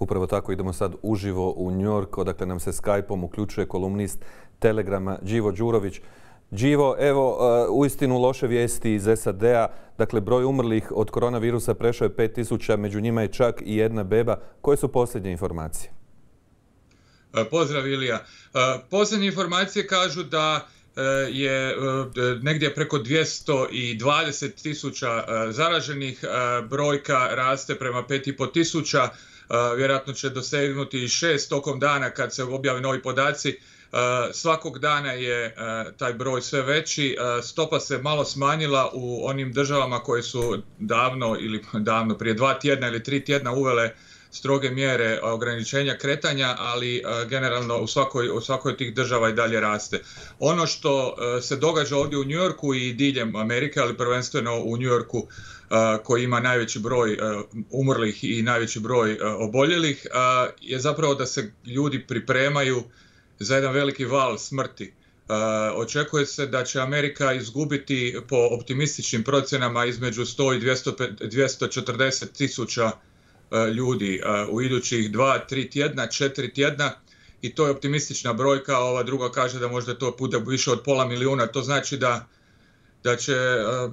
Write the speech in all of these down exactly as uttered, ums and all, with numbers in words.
Upravo tako idemo sad uživo u New York, odakle nam se Skype-om uključuje kolumnist Telegrama Đivo Đurović. Đivo, evo, uistinu loše vijesti iz S A D-a. Dakle, broj umrlih od koronavirusa prešao je pet tisuća, među njima je čak i jedna beba. Koje su posljednje informacije? Pozdrav, Ilija. Posljednje informacije kažu da je negdje preko dvjesto dvadeset tisuća zaraženih, brojka raste prema pet i pol tisuća, vjerojatno će dosegnuti šest tokom dana kad se objave novi podaci. Svakog dana je taj broj sve veći, stopa se malo smanjila u onim državama koje su davno ili davno prije dva tjedna ili tri tjedna uvele stroge mjere ograničenja kretanja, ali generalno u svakoj, u svakoj tih država i dalje raste. Ono što se događa ovdje u New Yorku i diljem Amerike, ali prvenstveno u New Yorku koji ima najveći broj umrlih i najveći broj oboljelih, je zapravo da se ljudi pripremaju za jedan veliki val smrti. Očekuje se da će Amerika izgubiti po optimističnim procjenama između sto i dvjesto četrdeset tisuća ljudi u idućih dva, tri tjedna, četiri tjedna, i to je optimistična brojka. Ova druga kaže da možda to bude više od pola milijuna. To znači da, da će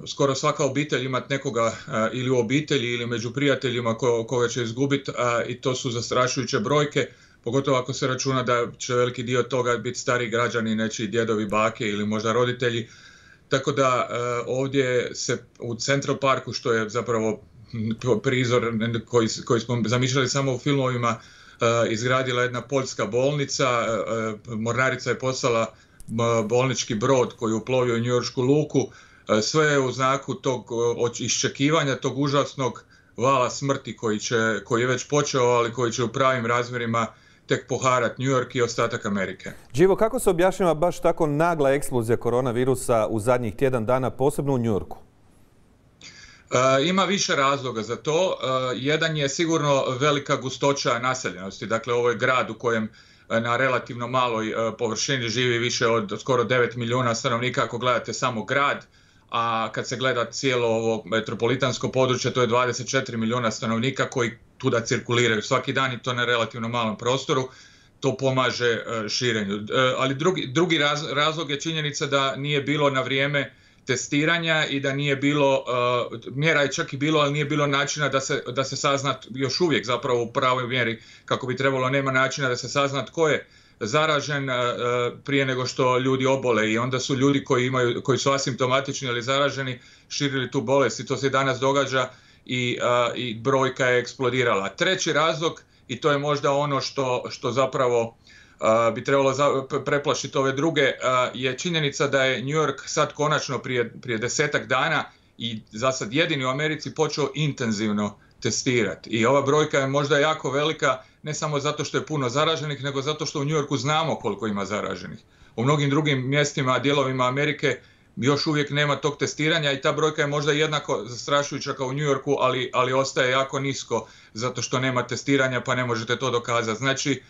skoro svaka obitelj imati nekoga ili u obitelji ili među prijateljima ko, koga će izgubiti, i to su zastrašujuće brojke, pogotovo ako se računa da će veliki dio toga biti stari građani, nečiji djedovi, bake ili možda roditelji. Tako da ovdje se u Central Parku, što je zapravo prizor koji, koji smo zamišljali samo u filmovima, izgradila jedna poljska bolnica. Mornarica je poslala bolnički brod koji je uplovio u njujoršku luku. Sve je u znaku tog iščekivanja, tog užasnog vala smrti koji, će, koji je već počeo, ali koji će u pravim razmjerima tek poharati New York i ostatak Amerike. Đivo, kako se objašnjava baš tako nagla eksplozija koronavirusa u zadnjih tjedan dana, posebno u New Yorku? E, ima više razloga za to. E, jedan je sigurno velika gustoća naseljenosti. Dakle, ovo je grad u kojem na relativno maloj površini živi više od skoro devet milijuna stanovnika ako gledate samo grad, a kad se gleda cijelo ovo metropolitansko područje, to je dvadeset četiri milijuna stanovnika koji tuda cirkuliraju svaki dan, i to na relativno malom prostoru. To pomaže širenju. Ali drugi, drugi razlog je činjenica da nije bilo na vrijeme testiranja i da nije bilo, mjera je čak i bilo, ali nije bilo načina da se, da se sazna još uvijek zapravo u pravoj mjeri kako bi trebalo, nema načina da se sazna tko je zaražen prije nego što ljudi obole, i onda su ljudi koji imaju, koji su asimptomatični ili zaraženi širili tu bolest, i to se i danas događa, i, i brojka je eksplodirala. Treći razlog, i to je možda ono što, što zapravo bi trebalo preplašiti ove druge, je činjenica da je New York sad konačno prije, prije desetak dana i za sad jedini u Americi počeo intenzivno testirati. I ova brojka je možda jako velika, ne samo zato što je puno zaraženih, nego zato što u New Yorku znamo koliko ima zaraženih. U mnogim drugim mjestima, dijelovima Amerike još uvijek nema tog testiranja, i ta brojka je možda jednako zastrašujuća kao u New Yorku, ali, ali ostaje jako nisko zato što nema testiranja, pa ne možete to dokazati. Znači,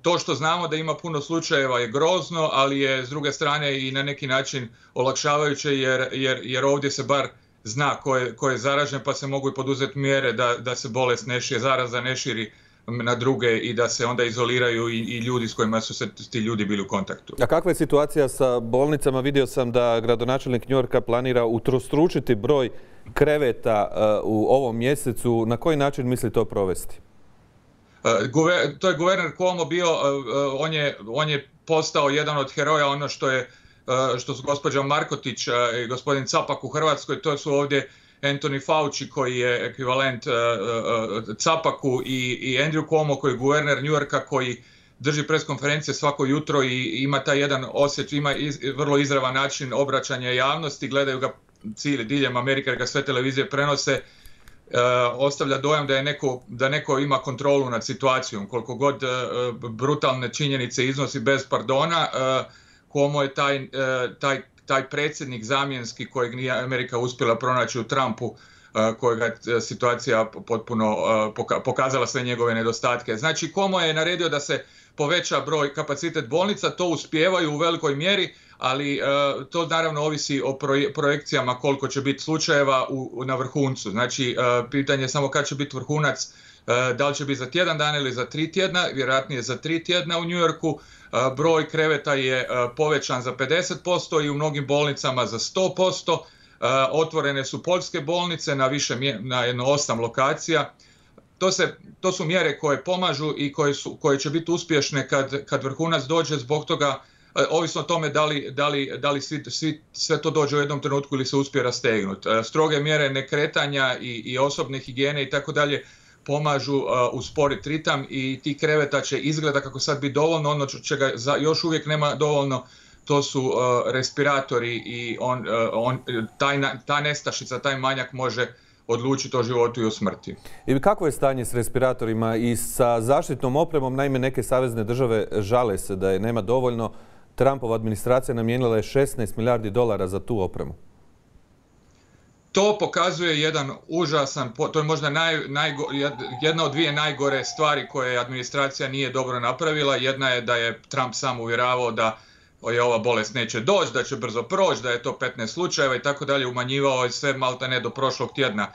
to što znamo da ima puno slučajeva je grozno, ali je s druge strane i na neki način olakšavajuće, jer, jer, jer ovdje se bar zna ko je, ko je zaražen, pa se mogu i poduzeti mjere da, da se bolest ne širi, zaraza ne širi na druge, i da se onda izoliraju i, i ljudi s kojima su se ti ljudi bili u kontaktu. A kakva je situacija sa bolnicama? Vidio sam da gradonačelnik New Yorka planira utrostručiti broj kreveta uh, u ovom mjesecu. Na koji način misli to provesti? To je guverner Cuomo bio, on je, on je postao jedan od heroja, ono što je, što su gospođa Markotić i gospodin Capak u Hrvatskoj, to su ovdje Anthony Fauci koji je ekvivalent Capaku, i, i Andrew Cuomo koji je guverner New Yorka, koji drži preskonferencije svako jutro i ima taj jedan osjećaj, ima iz, vrlo izravan način obraćanja javnosti, gledaju ga cijeli diljem Amerike, ga sve televizije prenose. Uh, ostavlja dojam da je neko, da neko ima kontrolu nad situacijom, koliko god uh, brutalne činjenice iznosi bez pardona. Uh, Cuomo je taj, uh, taj, taj predsjednik zamjenski kojeg nije Amerika uspjela pronaći u Trumpu, uh, kojega je situacija potpuno uh, poka- pokazala sve njegove nedostatke. Znači, Cuomo je naredio da se poveća broj kapacitet bolnica, to uspijevaju u velikoj mjeri, ali uh, to naravno ovisi o proje, projekcijama koliko će biti slučajeva u, na vrhuncu. Znači, uh, pitanje je samo kad će biti vrhunac. Da li će biti za tjedan dana ili za tri tjedna, vjerojatnije za tri tjedna u New Yorku. Broj kreveta je povećan za pedeset posto i u mnogim bolnicama za sto posto. Otvorene su poljske bolnice na više, na jedno osam lokacija. To, se, to su mjere koje pomažu i koje, su, koje će biti uspješne kad, kad vrhunac dođe, zbog toga, ovisno o tome da li, da li, da li svi, svi, sve to dođe u jednom trenutku ili se uspije rastegnuti. Stroge mjere nekretanja i, i osobne higijene i tako dalje pomažu uh, usporiti ritam i ti kreveta će izgleda kako sad biti dovoljno, ono čega za, još uvijek nema dovoljno, to su uh, respiratori i on, uh, on, taj, ta nestašica, taj manjak može odlučiti o životu i o smrti. I kakvo je stanje s respiratorima i sa zaštitnom opremom? Naime, neke savezne države žale se da je nema dovoljno. Trumpova administracija namijenila je šesnaest milijardi dolara za tu opremu. To pokazuje jedan užasan, to je možda naj, najgo, jedna od dvije najgore stvari koje administracija nije dobro napravila. Jedna je da je Trump sam uvjeravao da je ova bolest neće doći, da će brzo proći, da je to petnaest slučajeva i tako dalje, umanjivao je sve malta ne do prošlog tjedna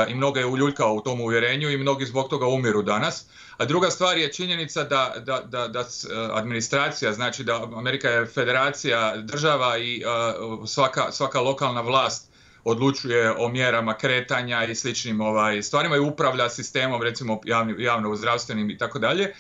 i mnogo je uljuljkao u tom uvjerenju i mnogi zbog toga umiru danas. A druga stvar je činjenica da, da, da, da administracija, znači da Amerika je federacija država i uh, svaka, svaka lokalna vlast odlučuje o mjerama kretanja i sličnim ovaj, stvarima i upravlja sistemom, recimo javni, javno-zdravstvenim i tako dalje.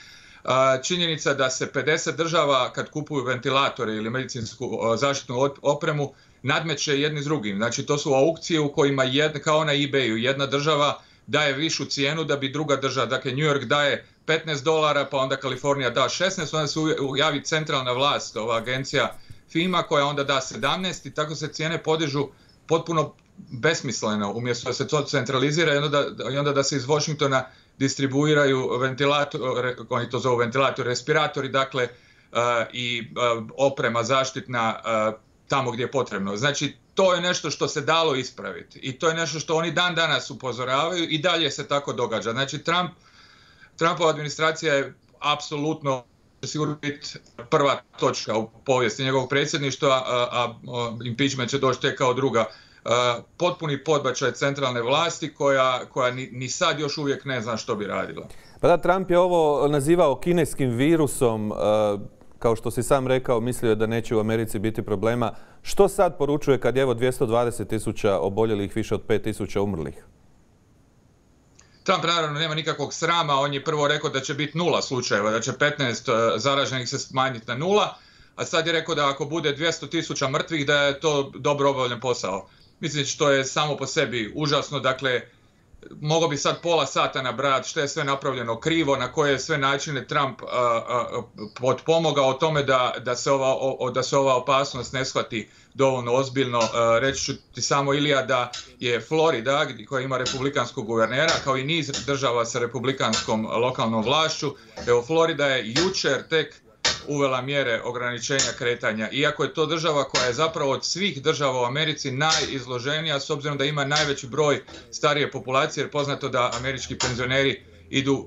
Činjenica da se pedeset država kad kupuju ventilatore ili medicinsku zaštitnu opremu nadmeće jedni s drugim. Znači to su aukcije u kojima jedna, kao na eBayu jedna država daje višu cijenu da bi druga država, dakle New York daje petnaest dolara pa onda Kalifornija da šesnaest, onda se javi centralna vlast, ova agencija FEMA koja onda da sedamnaest i tako se cijene podižu potpuno besmisleno, umjesto da se to centralizira i onda, i onda da se iz Washingtona distribuiraju ventilatori, oni to zovu ventilatori, respiratori, dakle uh, i uh, oprema zaštitna uh, tamo gdje je potrebno. Znači, to je nešto što se dalo ispraviti i to je nešto što oni dan danas upozoravaju i dalje se tako događa. Znači, Trump, Trumpova administracija je apsolutno sigurno biti prva točka u povijesti njegovog predsjedništva, a, a, a impeachment će doći tek kao druga. Uh, potpuni podbačaj centralne vlasti koja, koja ni, ni sad još uvijek ne zna što bi radila. Pa da, Trump je ovo nazivao kineskim virusom, uh, kao što si sam rekao, mislio je da neće u Americi biti problema. Što sad poručuje kad je evo dvjesto dvadeset tisuća oboljelih, više od pet tisuća umrlih? Trump naravno nema nikakvog srama, on je prvo rekao da će biti nula slučajeva, da će petnaest zaraženih se smanjiti na nula, a sad je rekao da ako bude dvjesto tisuća mrtvih da je to dobro obavljen posao. Mislim što je samo po sebi užasno, dakle, mogao bi sad pola sata nabrajati što je sve napravljeno krivo, na koje sve načine Trump uh, uh, potpomogao o tome da, da, se ova, o, da se ova opasnost ne shvati dovoljno ozbiljno. Uh, reći ću ti samo, Ilija, da je Florida, koja ima republikanskog guvernera, kao i niz država sa republikanskom lokalnom vlašću, evo Florida je jučer tek uvela mjere ograničenja kretanja, iako je to država koja je zapravo od svih država u Americi najizloženija, s obzirom da ima najveći broj starije populacije, jer poznato da američki penzioneri idu uh, uh,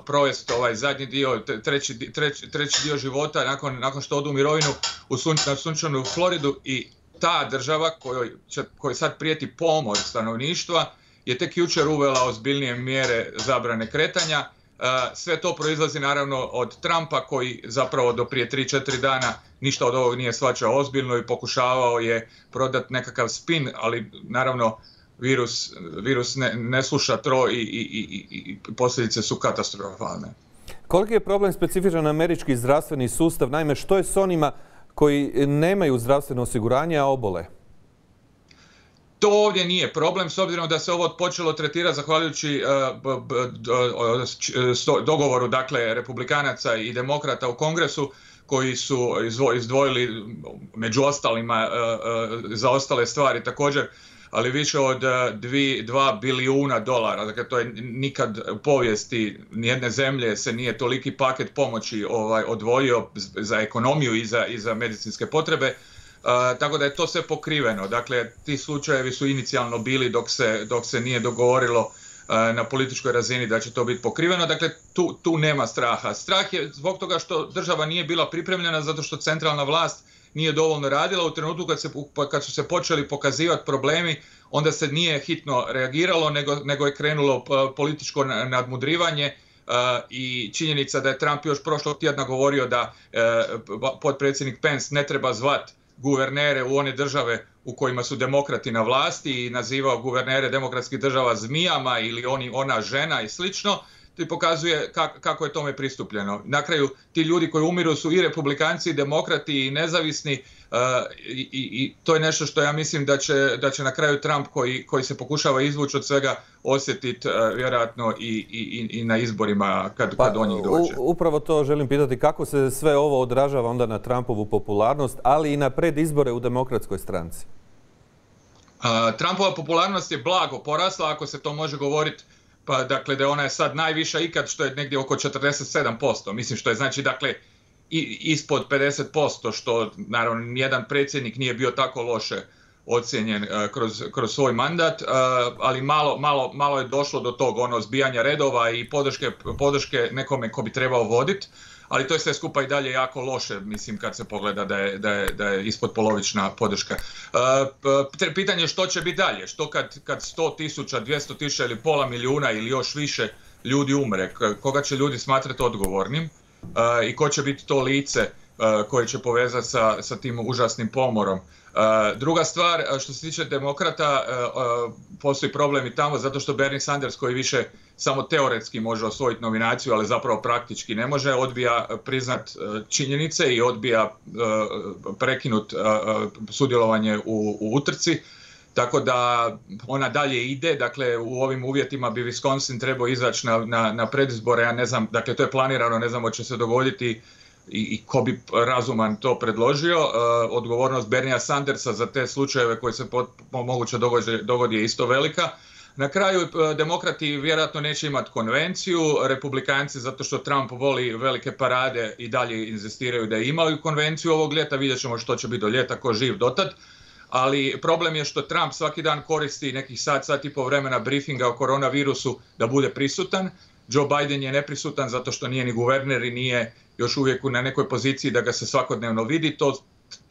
provesti ovaj zadnji dio, treći, treći, treći dio života nakon, nakon što odu u mirovinu u sunč, na sunčanu Floridu, i ta država kojoj, će, kojoj sad prijeti pomor stanovništva je tek jučer uvela ozbiljnije mjere zabrane kretanja. Sve to proizlazi naravno od Trumpa koji zapravo do prije tri četiri dana ništa od ovog nije shvaćao ozbiljno i pokušavao je prodati nekakav spin, ali naravno virus, virus ne, ne sluša tro i, i, i, i posljedice su katastrofalne. Koliki je problem specifičan američki zdravstveni sustav? Naime, što je s onima koji nemaju zdravstveno osiguranje, a obole? To ovdje nije problem, s obzirom da se ovo počelo tretirati zahvaljujući uh, dogovoru, dakle, republikanaca i demokrata u Kongresu, koji su izdvojili među ostalima uh, uh, za ostale stvari također, ali više od dva bilijuna dolara. Dakle, to je nikad u povijesti nijedne zemlje se nije toliki paket pomoći ovaj, odvojio za ekonomiju i za, i za medicinske potrebe. Uh, tako da je to sve pokriveno. Dakle, ti slučajevi su inicijalno bili dok se, dok se nije dogovorilo uh, na političkoj razini da će to biti pokriveno. Dakle, tu, tu nema straha. Strah je zbog toga što država nije bila pripremljena, zato što centralna vlast nije dovoljno radila. U trenutku kad, se, kad su se počeli pokazivati problemi, onda se nije hitno reagiralo, nego, nego je krenulo političko nadmudrivanje. Uh, i činjenica da je Trump još prošlog tjedna govorio da uh, potpredsjednik Pence ne treba zvat guvernere u one države u kojima su demokrati na vlasti i nazivao guvernere demokratskih država zmijama ili oni, ona žena i slično, to pokazuje kak, kako je tome pristupljeno. Na kraju ti ljudi koji umiru su i republikanci, i demokrati, i nezavisni uh, i, i to je nešto što ja mislim da će, da će na kraju Trump koji, koji se pokušava izvući od svega osjetiti uh, vjerojatno i, i, i na izborima kad, pa, kad do njih dođe. U, upravo to želim pitati, kako se sve ovo odražava onda na Trumpovu popularnost, ali i na predizbore u demokratskoj stranci? Uh, Trumpova popularnost je blago porasla, ako se to može govoriti. Pa dakle da ona je sad najviša ikad, što je negdje oko četrdeset sedam posto. Mislim što je znači dakle i, ispod pedeset posto, što naravno nijedan predsjednik nije bio tako loše ocijenjen uh, kroz, kroz svoj mandat, uh, ali malo, malo, malo je došlo do tog ono zbijanja redova i podrške, podrške nekome ko bi trebao voditi. Ali to je sve skupa i dalje jako loše, mislim, kad se pogleda da je, da je, da je ispod polovična podrška. Uh, pitanje je što će biti dalje, što kad, kad sto tisuća, dvjesto tisuća ili pola milijuna ili još više ljudi umre, koga će ljudi smatrati odgovornim uh, i ko će biti to lice uh, koje će povezati sa, sa tim užasnim pomorom. Uh, druga stvar, što se tiče demokrata, uh, uh, postoji problem i tamo zato što Bernie Sanders, koji više samo teoretski može osvojiti nominaciju, ali zapravo praktički ne može, odbija priznat uh, činjenice i odbija uh, prekinut uh, sudjelovanje u, u utrci. Tako da ona dalje ide, dakle u ovim uvjetima bi Wisconsin trebao izaći na, na, na predizbore, ja ne znam, dakle to je planirano, ne znamo će se dogoditi i, i ko bi razuman to predložio. Uh, odgovornost Berniea Sandersa za te slučajeve koji se pot, moguće dogodi, dogodi je isto velika. Na kraju uh, demokrati vjerojatno neće imati konvenciju, republikanci zato što Trump voli velike parade i dalje inzistiraju da imaju konvenciju ovog ljeta, vidjet ćemo što će biti do ljeta, ko živ dotad. Ali problem je što Trump svaki dan koristi nekih sat, sat i pol vremena briefinga o koronavirusu da bude prisutan. Joe Biden je neprisutan zato što nije ni guverner i nije još uvijek na nekoj poziciji da ga se svakodnevno vidi. To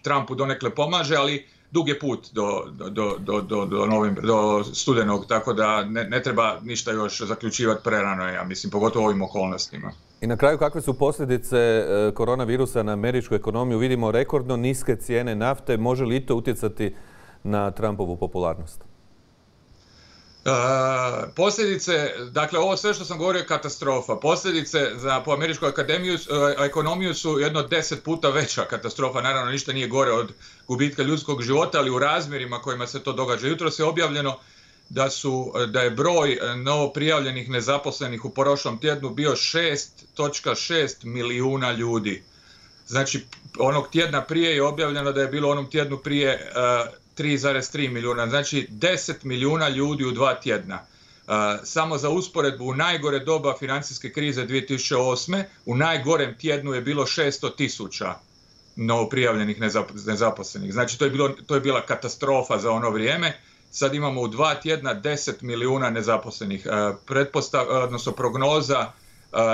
Trumpu donekle pomaže, ali dug je put do, do, do, do, do, novim, do studenog, tako da ne, ne treba ništa još zaključivati prerano, ja mislim, pogotovo u ovim okolnostima. I na kraju, kakve su posljedice koronavirusa na američku ekonomiju? Vidimo rekordno niske cijene nafte. Može li i to utjecati na Trumpovu popularnost? Uh, posljedice, dakle ovo sve što sam govorio je katastrofa. Posljedice za po američku akademiju, uh, ekonomiju su jedno deset puta veća katastrofa. Naravno ništa nije gore od gubitka ljudskog života, ali u razmjerima kojima se to događa. Jutros je objavljeno da, su, da je broj novo prijavljenih nezaposlenih u prošlom tjednu bio šest zarez šest milijuna ljudi. Znači onog tjedna prije je objavljeno da je bilo onom tjednu prije uh, tri zarez tri milijuna, znači deset milijuna ljudi u dva tjedna. Uh, samo za usporedbu, u najgore doba financijske krize dvije tisuće osme. u najgorem tjednu je bilo šesto tisuća novoprijavljenih nezaposlenih. Znači to je, bilo, to je bila katastrofa za ono vrijeme. Sad imamo u dva tjedna deset milijuna nezaposlenih. Uh, pretpostav, odnosno prognoza uh, uh,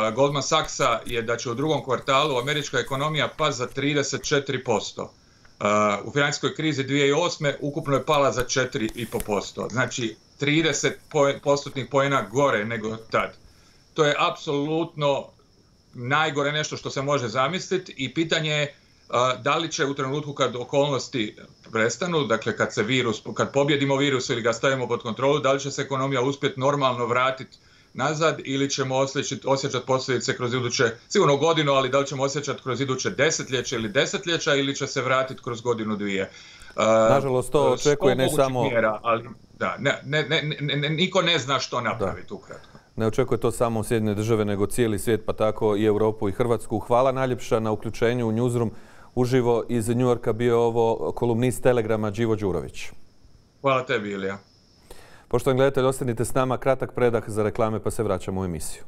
uh, Goldman Sachsa je da će u drugom kvartalu američka ekonomija pasti za trideset četiri posto. Uh, u financijskoj krizi dvije tisuće osme. ukupno je pala za četiri zarez pet posto. Znači trideset postotnih poena gore nego tad. To je apsolutno najgore nešto što se može zamisliti i pitanje je uh, da li će u trenutku kad okolnosti prestanu, dakle kad se virus, kad pobjedimo virus ili ga stavimo pod kontrolu, da li će se ekonomija uspjeti normalno vratiti nazad ili ćemo osjećati, osjećati posljedice kroz iduće, sigurno godinu, ali da li ćemo osjećati kroz iduće desetljeće ili desetljeća ili će se vratiti kroz godinu dvije. Uh, Nažalost, to očekuje ne samo... Mjera, ali da, ne, ne, ne, ne, niko ne zna što napraviti ukratko. Ne očekuje to samo Sjedinjene države, nego cijeli svijet, pa tako i Europu i Hrvatsku. Hvala najljepša na uključenju u Newsroom. Uživo iz New Yorka bio ovo kolumnist Telegrama Đivo Đurović. Hvala tebi, Ilija. Poštovani gledatelji, ostanite s nama, kratak predah za reklame pa se vraćamo u emisiju.